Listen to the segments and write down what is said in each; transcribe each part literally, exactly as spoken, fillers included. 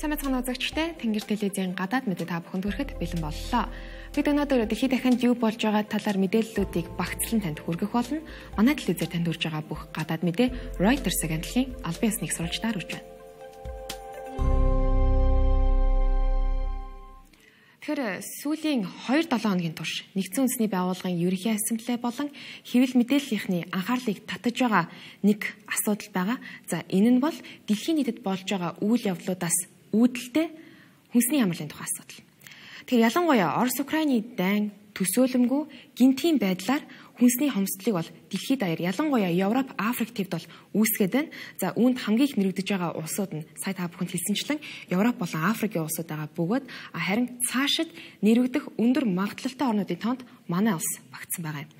Самцхан үзэгчтэй Тэнгэр телевизийн гадаад мэдээ та бүхэнд хүрэхэд бэлэн боллоо. Бид өнөөдөр дэлхийд дахинд юу болж байгаа талаар мэдээллүүдийг багцлан танд хүргэх болно. Манай телевизээр танд хүрж байгаа бүх гадаад мэдээ Reuters агентлагийн албан ёсны сурвалжтаар хүрч байна. Тэгэхээр сүүлийн хоёр долоо хоногийн турш Нэгдсэн үндэсний байгууллагын ерөнхий ассамблей болон хэвлэл мэдээллийнхний анхаарлыг татаж байгаа нэг асуудал байгаа. За энэ нь бол дэлхийн нийтэд болж байгаа үйл явдлуудаас үүдэлтэй хүнсний амралтын тухай асуудал. Тэгэхээр ялангуяа Орос Украины дайн төсөөлөмгүй гинтийн байдлаар хүнсний хомсдлыг бол дэлхийд даяар ялангуяа Европ, Африк төвд бол үүсгээд байна. За үүнд хамгийн их нэрвэгдэж байгаа улсууд нь сая та бүхэнд хэлсэнчлэн Европ болон Африкийн улсууд байгаа бөгөөд харин цаашид нэрвэгдэх өндөр магадлалтай орнуудын тоонд манай улс багтсан байгаа юм.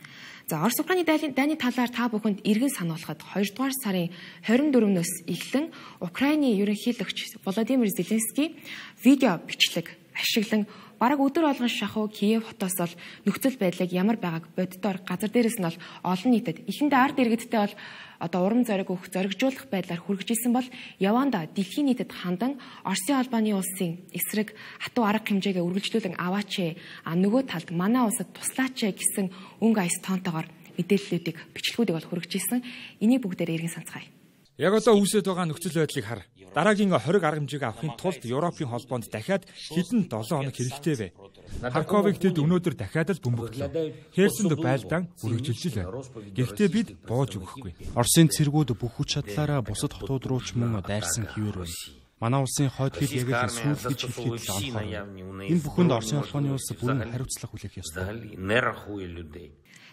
За Орос Украины дайны талаар та бүхэнд эргэн сануулхад хоёрдугаар сарын хорин дөрөвнөөс эхлэн Украины ерөнхийлөгч Володимир Зеленский видео бичлэг ашиглан бараг өдөр болгон шахуу Киев хотоос бол нөхцөл байдлыг ямар байгааг боддоор газар дээрээс нь бол олон нийтэд эхэндээ ард иргэдтэй бол одоо урам зориг өгөх зоригжуулах байдлаар хүргэжсэн бол яванда дэлхийн нийтэд хандан Оросын албаны улсын эсрэг хатуу арга хэмжээгээ үргэлжлүүлэн аваач а нөгөө талд манай улсад туслаач гэсэн өнгө аяс тоонтойгоор мэдээллүүдийг бичлэгүүдийг бол хүргэжсэн. Энийг бүгдээр эргэн санацгаая. Яг одоо үүсэж байгаа нөхцөл байдлыг хар. Дараагийн хориг арга хэмжээг авахын тулд Европын холбоонд дахиад хэдэн долоо хоног хэрэгтэй вэ? Харьковыг тэд өнөөдөр дахиад л бөмбөглөө. Херсонд байлдаан үргэлжилж байна. Гэхдээ бид бууж өгөхгүй. Оросын цэргүүд бүх хүч чадлаараа бусад хотууд руу ч мөн дайрсан хിവэр байна. Манай улсын хойд хил яг л сүүл гэж хэлэхэд л онцгой. Энэ бүхэнд Оросын албаны улс бүрэн хариуцлага хүлээх ёстой.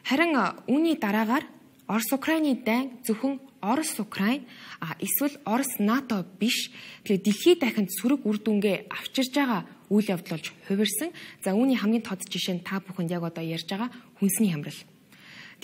Харин үүний дараагаар Орос Украины дайн зөвхөн Орос Украин а эсвэл Орос НАТО биш. Тэгээ дэлхийд дахинд сөрөг үр дүнгээ авчирж байгаа үйл явдал болж хувирсан. За үүний хамгийн тод жишээ нь та бүхэнд яг одоо ярьж байгаа хүнсний хямрал.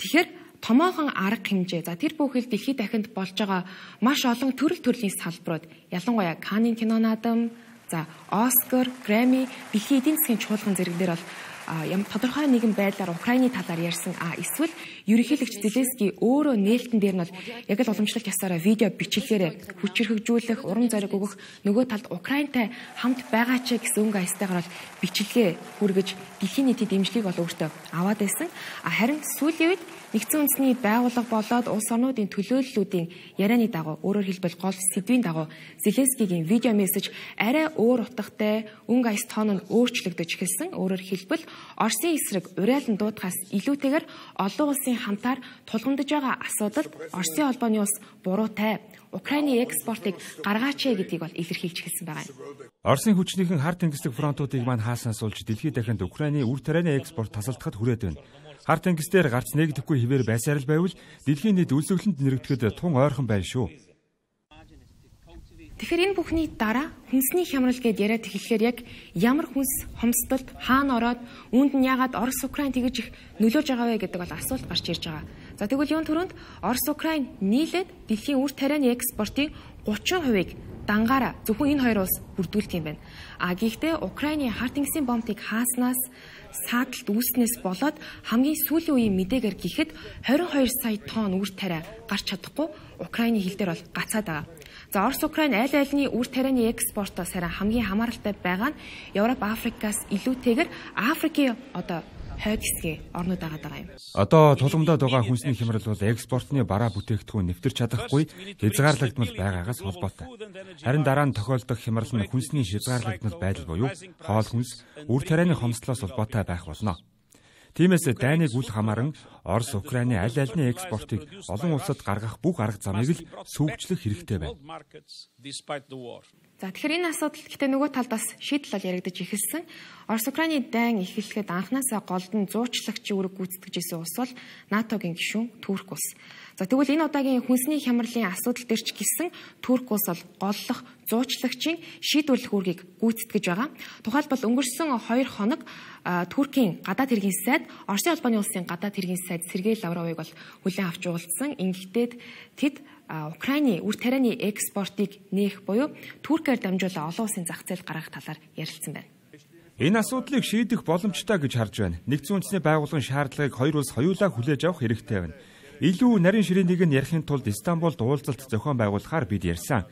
Тэгэхээр томоохон арга хэмжээ. За тэр бүхэл дэлхийд дахинд болж байгаа маш олон төрөл төрлийн салбарууд ялангуяа Каннын кино наадам, за Оскар, Грэмми, дэлхийн эдийн засгийн чуулган зэрэг дээр бол ямар тодорхой нэгэн байдлаар Украины талаар ярьсан а эсвэл ерөнхийлөгч Зеленский өөрөө нээлтэн дээр нь бол яг л уламжлалт ясаараа видео бичлэгээр хүчирхэгжүүлэх, урам зориг өгөх, нөгөө талд Украинтай хамт байгаа ч гэсэн өнгө аястайгаар бол бичлэгээ хүргэж дэлхийн нийтийн дэмжлэгийг бол өөртөө аваад байсан. Харин сүүлийн үед Нэгдсэн үндэсний байгууллага болоод улс орнуудын төлөөллүүдийн ярианы дагуу өөрөөр хэлбэл гол сэдвийн дагуу Зеленскийгийн видео мессеж арай өөр утгатай, өнгө аяс тоон нь өөрчлөгдөж эхэлсэн. Өөрөөр хэлбэл Оросын эсрэг уриалан дуудахаас илүүтэйгээр олон улсын хамтаар тулгамдж байгаа асуудалд Оросын албаны улс буруутай Украины экспортыг гаргаач гэдгийг бол илэрхийлж эхэлсэн байгаа юм. Оросын хүчнийхэн хар тэнгислэг фронтуудыг маань хаасаас улж дэлхийд дахинд Украины үр тарианы экспорт тасалдахад хүрээд байна. Хар тэнгис дээр гарц нэгдэхгүй хിവэр байсаар л байвал дэлхийн нийт өлсгөлөнд нэрвдэхэд тун ойрхон байна шүү. Тэгэхээр энэ бүхний дараа хүнсний хямрал гэдээ яриад эхлэхээр яг ямар хүнс хомсдолд хаана ороод үүнд нь яагаад Орос Украин тэгэж их нөлөөж байгаа вэ гэдэг бол асуулт гарч ирж байгаа. За тэгвэл юун түрүүнд Орос Украин нийлээд дэлхийн үр тарианы экспортын гучин хувийг дангаараа зөвхөн энэ хоёр улс бүрдүүлдэг юм байна. А гэхдээ Украины хар тэнгисийн бомбыг хааснаас сааталт үүснээс болоод хамгийн сүүлийн үеийн мэдээгээр гэхэд двадцать two сая тонн үр тариа гарч чадахгүй Украины хил дээр бол гацаад байгаа. За Орос Украин аль альны үр тарианы экспортоос харин хамгийн хамааралтай байгаа нь Европ, Африкаас илүүтэйгээр Африкийн одоо хойд хэсгийн орнууд байгаа юм. Одоо тулгамдаад байгаа хүнсний хямрал бол экспортны бараа бүтээгдэхүүн нэвтэрч чадахгүй хязгаарлагдмал байгаагаас холбоотой. Харин дараа нь тохиолдох хямрал нь хүнсний хязгаарлагдмал байдал буюу хоол хүнс, үр тарианы хомсдлоос холбоотой байх болно. Тиймээс дайныг үл хамааран Орос Украины аль альны экспортыг олон улсад гаргах бүх арга замыг л сүүгчлэх хэрэгтэй байна. За тэгэхээр энэ асуудал гэхдээ нөгөө талдаас шийдэл бол яригдаж эхэлсэн. Орос Украины дайн эхлэхэд анханасаа голдон зуучлагч үүрэг гүйцэтгэж исэн улс бол НАТОгийн гишүүн Турк улс. За тэгвэл энэ удаагийн хүнсний хямралын асуудал дээр ч гэсэн Турк улс бол голлох зуучлагчийн шийдвэрлэх үүргийг гүйцэтгэж байгаа. Тухайлбал өнгөрсөн хоёр хоног Туркийн гадаад хэргийн сайд Оросын албаны улсын гадаад хэргийн сайд Сергей Лавровыг бол хүлээн авч уулзсан. Ингэхдээ тэд Украины үр тарианы экспортыг нээх буюу Туркээр дамжуулан олон улсын зах зээл гаргах талаар ярилцсан байна. Энэ асуудлыг шийдэх боломжтой гэж харж байна. Нэгдсэн үндэсний байгууллагын шаардлагыг хоёр улс хоёулаа хүлээж авах хэрэгтэй байна. Илүү нарийн ширээнийг нь ярихын тулд Истанбулд уулзалт зохион байгуулахаар бид ярьсан.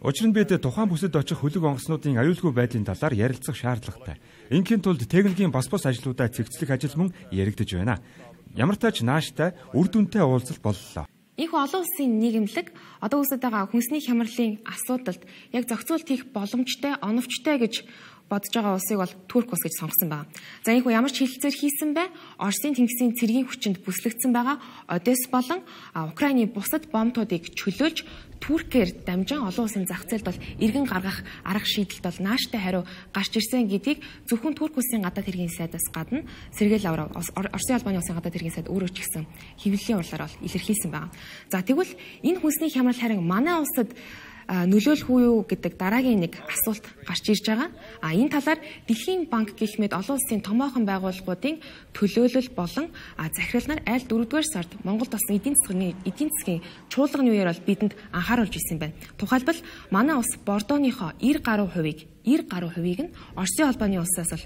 Учир нь бид тухайн бүсэд очих хөлөг онгоцнуудын аюулгүй байдлын талаар ярилцах шаардлагатай. Ингийн тулд техникийн бас бос ажлуудаа цэгцлэх ажил мөн яригдж байна. Ямар ч тач нааштай үр дүнтэй уулзалт боллоо. Энэхүү олон улсын нийгэмлэг одоо үүсэж байгаа хүнсний хямралын асуудалд яг зохицуулт хийх боломжтой, оновчтой гэж бодож байгаа улсыг бол Турк улс гэж сонгосон байна. За энэхүү ямар ч хилцээр хийсэн бай, Оросын тэнгисийн цэргийн хүчинд бүслэгдсэн байгаа Одесс болон Украины бусад бомбуудыг чөлөөлж Туркээр дамжин олон улсын зах зээлд бол иргэн гаргах арга шийдэлд бол нааштай хариу гарч ирсэн гэдгийг зөвхөн Турк улсын гадаад хэргийн сайдаас гадна Сергей Лавров, Оросын албаны улсын гадаад хэргийн сайд өөрөө ч гэсэн хэвлэлийн урлаар бол илэрхийлсэн байна. За тэгвэл энэ хүнсний хямрал харин манай улсад нөлөөлөх үү юу гэдэг дараагийн нэг асуулт гарч ирж байгаа. А энэ талаар Дэлхийн банк гэх мэт олон улсын томоохон байгууллагуудын төлөөлөл болон захирал нар аль дөрөвдүгээр сард Монголд болсон эдийн засгийн эдийн засгийн чуулганы үеэр бол бидэнд анхааруулж ирсэн байна. Тухайлбал манай улс Бордооныхоо девять гаруй хувийг девять гаруй хувийг нь Оросын албаны улсаас бол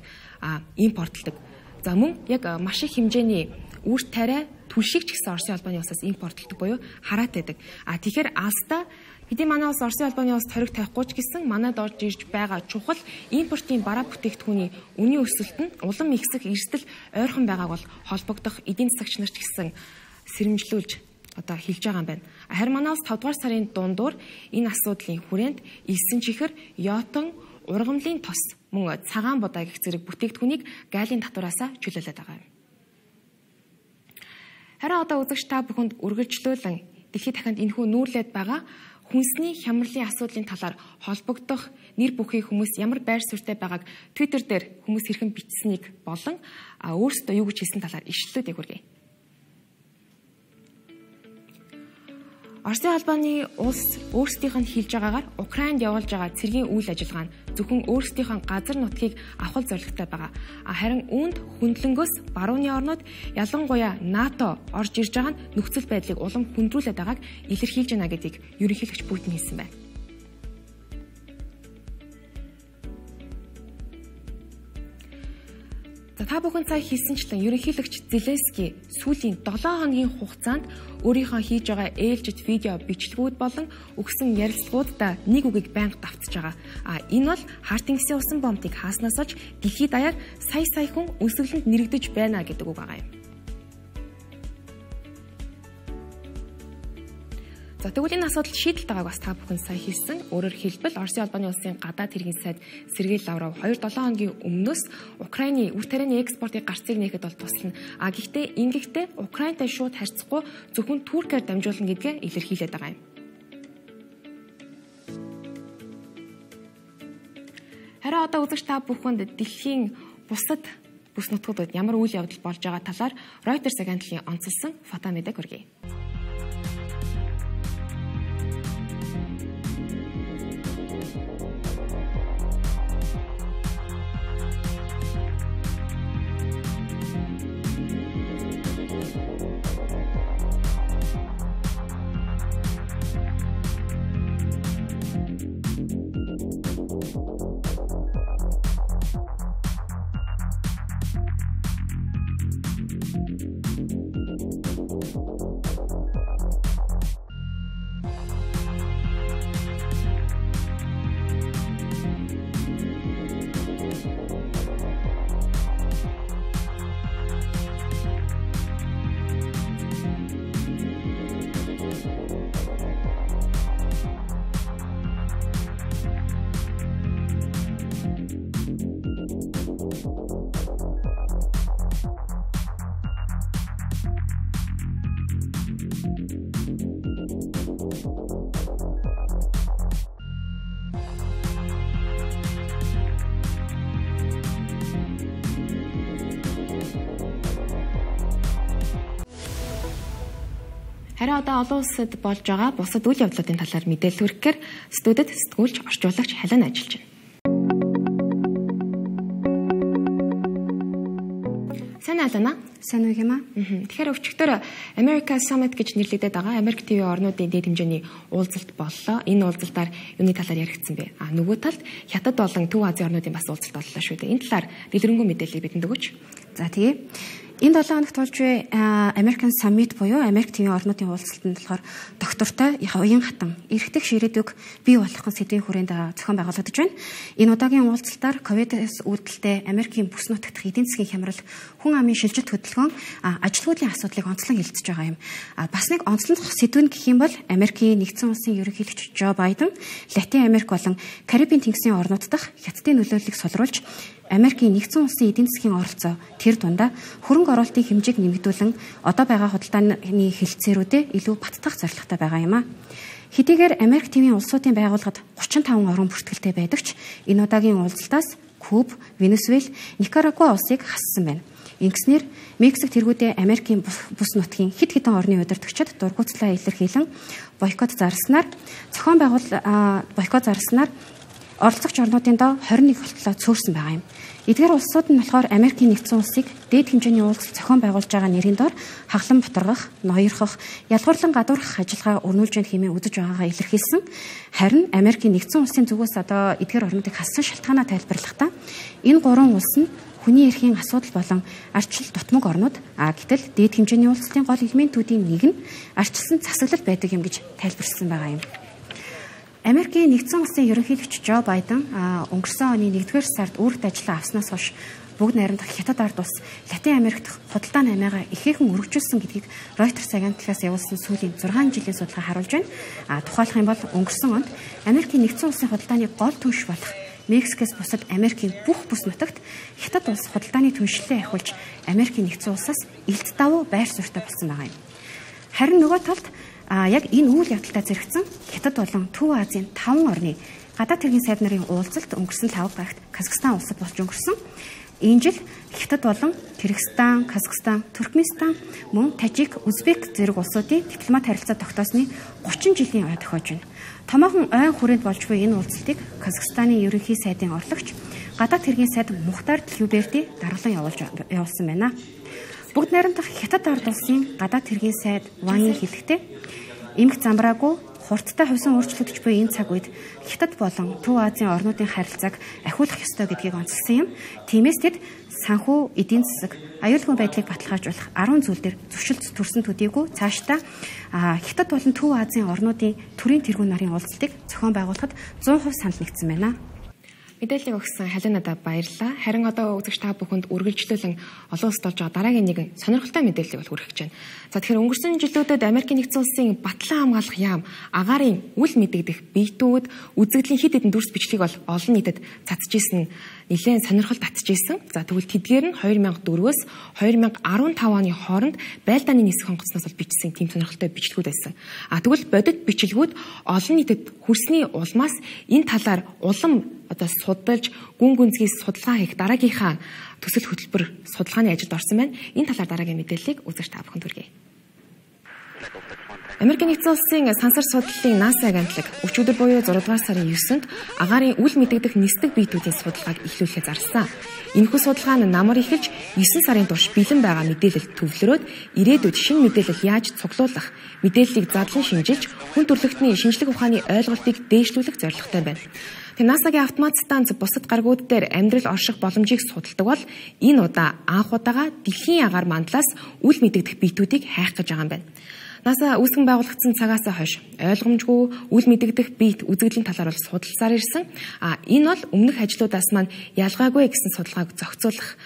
импортлдог. За мөн яг маш их хэмжээний үр тариа түлшиг ч гэсэн Оросын албаны улсаас импортлдог буюу хараат байдаг. А тэгэхээр алстаа хэдий манай улс Оросын албаны улс хориг тавихгүй ч гэсэн манайд орж ирж байгаа чухал импортын бараа бүтээгдэхүүний үнийн өсөлт нь улам ихсэх эрсдэл ойрхон байгааг бол холбогдох эдийн засагч нар ч гэсэн сэрэмжлүүлж одоо хэлж байгаа юм байна. Харин манай улс тавдугаар сарын дундуур энэ асуудлын хүрээнд элсэн чихэр, йотон, ургамлын тос мөн цагаан будаа гэх зэрэг бүтээгдэхүүнийг гайлын татвараасаа чөлөөлөд байгаа юм. Харин одоо үзэгч та бүхэнд үргэлжлүүлэн дэлхийд дахинд энэхүү нүүрлээд байгаа хүнсний хямралын асуудлын талаар холбогдох нэр бүхий хүмүүс ямар байр суурьтай байгааг Twitter дээр хүмүүс хэрхэн бичсэнийг болон өөрсдөө юу гэж хэлсэн талаар ишлэлүүдийг хүргэе. Оросын албаны улс өөрсдийнх нь хэлж байгаагаар Украинд явуулж байгаа цэргийн үйл ажиллагаа нь зөвхөн өөрсдийнх нь газар нутгийг авах зорилготой байгаа. Харин үүнд хөндлөнгөөс барууны орнууд ялангуяа НАТО орж ирж байгаа нь нөхцөл байдлыг улам хүндрүүлээд байгааг илэрхийлж байна гэдгийг ерөнхийлөгч Путин хэлсэн байна. За та бүхэн цаа хийсэнчлэн ерөнхийлөгч Зеленский сүүлийн долоо хоногийн хугацаанд өөрийнхөө хийж байгаа ээлжид видео бичлэгүүд болон өгсөн ярилцлагуудаа нэг үгийг байнга давтж байгаа. А энэ бол Харт тэнгисийн усан бомбыг хааснаас олж дэлхийд даяар сая сая хүн өсөглөнд нэрэгдэж байна гэдэг үг байгаа юм. За тэгвэл энэ асуудал шийдэлт байгааг бас та бүхэн сайн хэлсэн. Өөрөөр хэлбэл Оросын албаны улсын гадаад хэргийн сайд Сергей Лавров хоёр долоо хоногийн өмнөөс Украины үр тарианы экспортыг гарцыг нээхэд бол туслана. А гэхдээ ингэхдээ Украинтай шууд харьцахгүй зөвхөн Туркээр дамжуулна гэдгээ илэрхийлээд байгаа юм. Харин одоо үзэгч та бүхэнд дэлхийн бусад бүс нутгуудад ямар үйл явдал болж байгаа талаар Reuters агентлгийн онцлсан фото мэдээг хүргэе. Харин одоо олон улсад болж байгаа бусад үйл явдлуудын талаар мэдээлэл хүргэхээр студид сэтгүүлч орчуулагч Халин ажиллаж байна. Сайн алана. Сайн уу юм аа? Тэгэхээр өвчтөр America Summit гэж нэрлэгдээд байгаа Америк ТV орнуудын дэд хэмжээний уулзалт боллоо. Энэ уулзалтаар юуны талаар яригдсан бэ? А нөгөө талд Хятад болон Төв Азийн орнуудын бас уулзалт боллоо шүү дээ. Энэ талаар дэлгэрэнгүй мэдээлэл бидэнд өгөөч. За тэгээ. Энэ долоо хоногт болж буй American Summit буюу Америк ТV орнуудын уулзалтанд болохоор доктортой уян хатан эрхтэх ширээдүг бий болгох сэдвийн хүрээнд зохион байгуулагдаж байна. Энэ удаагийн уулзалтаар ковидос үүдэлтэй Америкийн бүс нутагт эдийн засгийн хямрал, хүн амын шилжилт хөдөлгөөн, ажилгүйдлийн асуудлыг онцлон хэлэлцэж байгаа юм. Бас нэг онцлог сэдв нь гэх юм бол Америкийн нэгдсэн улсын ерөнхийлөгч Жо Байден Латин Америк болон Карибын тэнгисийн орнууд дахь хятадын нөлөөллийг сулруулж Америкийн нэгдсэн улсын эдийн засгийн оролцоо тэр дундаа хөрөнгө оруулалтын хэмжээг нэмэгдүүлэн одоо байгаа худалдааны хэлэлцээрүүдэд илүү баттах зорилготой байгаа юм а. Хэдийгээр Америк ТV-ийн улсуудын байгууллагад гурван таван орон бүртгэлтэй байдаг ч энэ удаагийн уулзалтаас Куб, Венесуэл, Никарагуа улсыг хассан байна. Ингэснээр Мексик тэргүүдээ Америкийн бүс нутгийн хэд хэдэн орны удирдагчид дургуутслаа илэрхийлэн бойкот зарласнаар зохион байгуул бойкот зарласнаар оролцогч орнуудын доо хорин нэг болтлоо цөөрсөн байгаа юм. Эдгээр улсууд нь болохоор Америкийн нэгдсэн улсыг дээд хэмжээний уулзалт зохион байгуулж байгаа нэрийн доор хаглан бутаргах, ноёрхох, ялгуурлан гадуурхах ажиллагаа өрнүүлж байна хэмээн үзэж байгаагаа илэрхийлсэн. Харин Америкийн нэгдсэн улсын зүгээс одоо эдгээр орнуудыг хассан шалтгаанаа тайлбарлахдаа энэ гурван улс нь хүний эрхийн асуудал болон арчил дутмаг орнууд а гэтэл дээд хэмжээний уулзалтын гол элементүүдийн нэг нь арчилсан засаглал байдаг юм гэж тайлбарласан байгаа юм. Америкийн нэгдсэн улсын ерөнхийлөгч Жо Байден өнгөрсөн оны нэгдүгээр сард үүрэгт ажиллаа авснаас хойш бүгд найрамдах Хятад ард улс Латин Америкт худалдааны амиагаа ихээхэн өргөжүүлсэн гэдгийг Reuters агентлагаас явуулсан сүүлийн зургаан жилийн судалгаа харуулж байна. А тухайлах юм бол өнгөрсөн онд Америкийн нэгдсэн улсын худалдааны гол түнш болох Мексикээс бусад Америкийн бүх бүс нутагт Хятад улс худалдааны түншлэлээ ахиулж Америкийн нэгдсэн улсаас элт давуу байр суурьтай болсон байгаа юм. Харин нөгөө талд А яг энэ үйл явдалтай зэрэгцэн Хятад болон Төв Азийн таван орны гадаад хэргийн сайд нарын уулзалт өнгөрсөн лав багт Казахстан улсад болж өнгөрсөн. Энэ жил Хятад болон Кыргызстан, Казахстан, Туркменстан, мөн Тажик, Узбек зэрэг улсуудын дипломат харилцаа тогтоосны гучин жилийн ой тохиож байна. Томоохон ойн хүрээнд болж буй энэ уулзалтыг Казахстаны ерөнхий сайдын орлогч гадаад хэргийн сайд Мухтар Тилюберди даргалан явуулж явуулсан байна. Бүгд найрамдах Хятад ард улсын гадаад хэргийн сайд Вангийн хэлэхдээ эмх замбраагүй хурдтай хувьсан өөрчлөгдөж буй энэ цаг үед Хятад болон Төв Азийн орнуудын харилцааг ахиулах ёстой гэдгийг онцлсан юм. Тиймээс тэд санхүү, эдийн засаг, аюулгүй байдлыг баталгаажуулах арван зүйл дээр зөрчилд төрсөн төдийгүй цаашдаа Хятад болон Төв Азийн орнуудын төрийн тэргүүн нарын уулзалтыг зохион байгуулахад зуун хувь санал нэгдсэн байна. Мэдээллийг өгсөн Халинадаа баярлалаа. Харин одоо үзэгч та бүхэнд үргэлжлүүлэн олон улсад болж байгаа дараагийн нэгэн сонирхолтой мэдээллийг бол хүргэж байна. За тэгэхээр өнгөрсөн жилүүдэд Америкийн нэгдсэн улсын батлан хамгаалах яам, агаарын үл мэдэгдэх биетүүд, үзэгдлийн хэд хэдэн дүрс бичлэгийг бол олон нийтэд цацжсэн нэлээд сонирхол татжсэн. За тэгвэл тэдгээр нь две тысячи дөрвөөс две тысячи десять оны хооронд байлдааны нисэх хонгоцноос бол бичсэн тийм сонирхолтой бичлэгүүд байсан. А тэгвэл бодит бичлэгүүд олон нийтэд хүрсний улмаас энэ талаар улам одоо судалж гүн гүнзгий судалгаа хийх дараагийнхаа төсөл хөтөлбөр судалгааны ажилд орсон байна. Энэ талаар дараагийн мэдээллийг үзэгч та бүхэнд хүргэе. Америкийн нэгдсэн улсын сансар судлалын NASA агентлаг өчигдөр буюу зураг дугаар сарын девятнд агаарын үл мэдэгдэх нисдэг биетүүдийн судалгааг эхлүүлэхэд зарласан. Энэхүү судалгаа нь намар эхэлж девять сарын турш бэлэн байгаа мэдээлэл төвлөрөөд ирээдүйд шинэ мэдээлэл яаж цуглуулах, мэдээллийг задлан шинжилж, хүн төрөлхтний шинжлэх ухааны ойлголтыг дээшлүүлэх зорилготой байна. NASA-гийн автомат станц бусад гаригууд дээр амьдрал орших боломжийг судалдаг бол энэ удаа анх удаага дэлхийн агаар мандлаас үл мэдэгдэх биетүүдийг хайх гэж байгаа юм байна. NASA үүсгэн байгуулагдсан цагаас хойш ойлгомжгүй үл мэдэгдэх биет үзэгдлийн талаар бол судалсаар ирсэн. А энэ бол өмнөх ажлуудаас маань ялгаагүй гэсэн судалгааг зохицуулах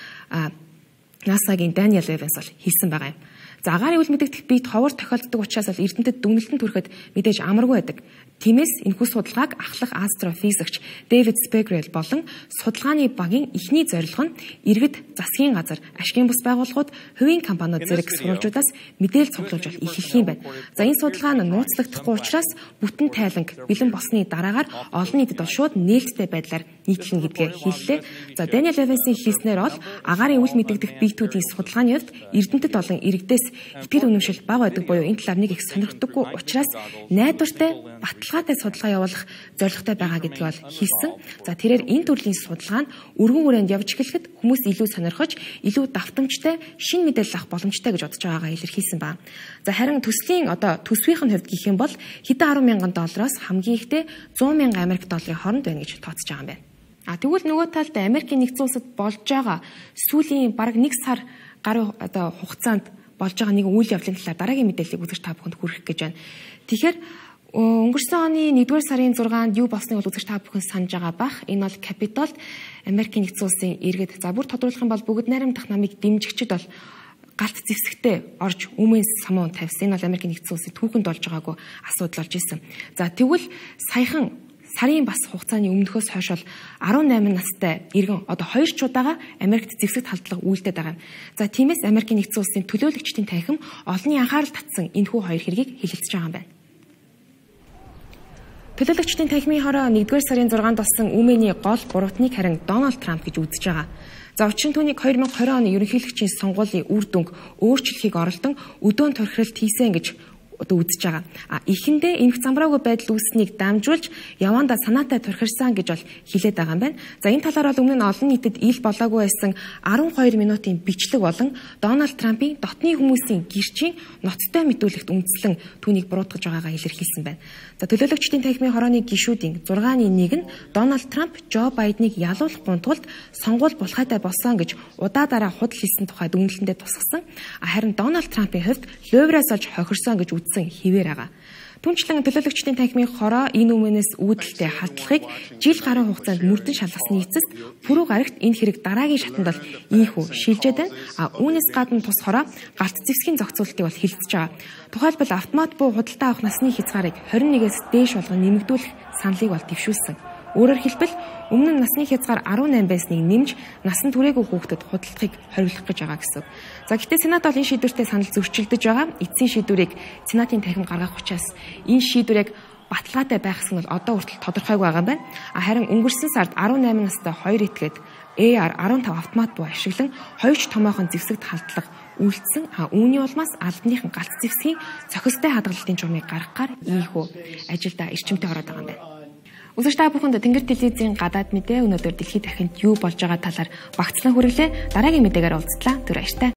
NASA-гийн Daniel Evans бол хийсэн байгаа юм. За агаарын үл мэдэгдэх биет ховор тохиолддог учраас бол эрдэмтэд дүгнэлтэн түрэхэд мэдээж амаргүй байдаг. Тиймээс энэхүү судалгааг ахлах астрофизикч Дэвид Спегрел болон судалгааны багийн эхний зорилго нь иргэд засгийн газар, ашгийн бус байгууллагууд, хувийн компаниуд зэрэг сурвалжуудаас мэдээлэл цуглуулж эхлэх юм байна. За энэ судалгаа нь нууцлагдахгүй учраас бүтэн тайланг бэлэн болсны дараагаар олон нийтэд бол шууд нээлттэй байдлаар нийтлэн гэдгээ хэллээ. За Daniel Evans-ийн хэлснээр бол агаарын үл мэдэгдэх биетүүдийн судалгааны хувьд эрдэмтэд болон иргэдээс итгэл үнэмшил бага байдаг буюу энэ талаар нэг их сонирхдаггүй учраас найдвартай баталгаатай судалгаа явуулах зорилготой байгаа гэдгийг бол хэлсэн. За тэрээр энэ төрлийн судалгаа нь өргөн хүрээнд явж эхлэхэд хүмүүс илүү сонирхож, илүү давтамжтай шинэ мэдээлэл авах боломжтой гэж бодож байгаагаа илэрхийлсэн байна. За харин төслийн одоо төсвийн хувьд гэх юм бол хэдэн арван мянган доллароос хамгийн ихдээ зуун мянган Америк долларын хооронд байна гэж тооцож байгаа юм байна. А тэгвэл нөгөө талд Америкийн нэгдсэн улсад болж байгаа сүүлийн бараг нэг сар гаруй одоо хугацаанд болж байгаа нэг үйл явдлын талаар дараагийн мэдээллийг үзэж та бүхэнд хүргэх гэж байна. Тэгэхээр өнгөрсөн оны нэгдүгээр сарын зургаанд юу болсныг бол үзэж та бүхэн санаж байгаа бах. Энэ бол Capitol Америкийн нэгдсэн улсын иргэд за бүр тодруулах юм бол бүгд найрамдах намыг дэмжигчд бол галт зэвсэгтээ орж өмнө самуун тавьсан. Энэ бол Америкийн нэгдсэн улсын түүхэнд болж байгаагүй асуудал болж исэн. За тэгвэл саяхан сарын бас хугацааны өмнөхөөс хойш бол арван найман настай иргэн одоо хоёр ч удаага Америкт зэвсэгт халдлага үйлдээд байгаа юм. За тиймээс Америкийн нэгдсэн улсын төлөөлөгчдийн танхим олонний анхаарал татсан энэхүү хоёр хэргийг хэлэлцэж байгаа юм байна. Төлөөлөгчдийн танхимын хороо нэгдүгээр сарын зургаанд болсон үмэний гол буруутныг харин Дональд Трамп гэж үзэж байгаа. За учир нь түүнийг хоёр мянган и оны ерөнхийлөгчийн сонгуулийн үр дүнг өөрчлөхийг оролдон өдөөн торхиролт хийсэн гэж одоо үзэж байгаа. А эхэндээ энэх замбраагүй байдал үүснийг дамжуулж явандаа санаатай турхирсан гэж бол хэлээд байгаа юм байна. За энэ талаар бол өмнө нь олон нийтэд ил болоогүй байсан арван хоёр минутын бичлэг болон Дональд Трампын дотны хүмүүсийн гэрчийн ноцтой мэдүүлэгт үндэслэн түүнийг буруутгаж байгаагаа илэрхийлсэн байна. За төлөөлөгчдийн танхимын хорооны гишүүдийн зургааны нэг нь Дональд Трамп Жо Байденыг ялуулахгүй тулд сонгуул булхайтай болсон гэж удаа дараа худал хийсэн тухай дүгнэлтэндээ тусгасан. Харин Дональд Трампын хувьд Лувраас олж хохирсон гэж үзсэн хിവэр байгаа. Түнчлэн төлөөлөгчдийн танхимын хороо энэ өмнөөс үүдэлтэй халдлагыг жил гаруй хугацаанд мөрдөн шалгасны эцэст пүрэв гарагт энэ хэрэг дараагийн шатанд бол ийхүү шилжээд байна. А үүнээс гадна тус хороо галт зэвсгийн зохицуултыг бол хилцэж байгаа. Тухайлбал автомат буу худалдаа авах насны хязгаарыг двадцать нэгээс дээш болгон нэмэгдүүлэх саналыг бол дэвшүүлсэн. Өөрөөр хэлбэл өмнө нь насны хязгаар арван найман байсныг нэмж насан туршаагүй хүүхдэд худалдахыг хориглох гэж байгаа гэсэн. За гэхдээ Сенат бол энэ шийдвэртэй санал зөрчилдөж байгаа. Эцсийн шийдвэрийг Сенатын танхим гаргах учраас энэ шийдвэрийг баталгаатай байх гэсэн нь одоо хүртэл тодорхойгүй байгаа юм байна. Харин өнгөрсөн сард арван найман настай хоёр этгээд A R15 автомат буу ашиглан хоёр ч томоохон зэвсэгт халдлага үйлдсэн. А үүний улмаас албаныхан галт зэвсгийн цохистой хадгалалтын журмыг гаргахаар ийхүү ажилдаа эрчимтэй ороод байгаа юм байна. Үзэгч та бүхэнд Тэнгэр телевизийн гадаад мэдээ өнөөдөр дэлхийд дахинд юу болж байгаа талаар багцлан хүргэлээ. Дараагийн мэдээгээр уулзтлаа. Түр баяртай.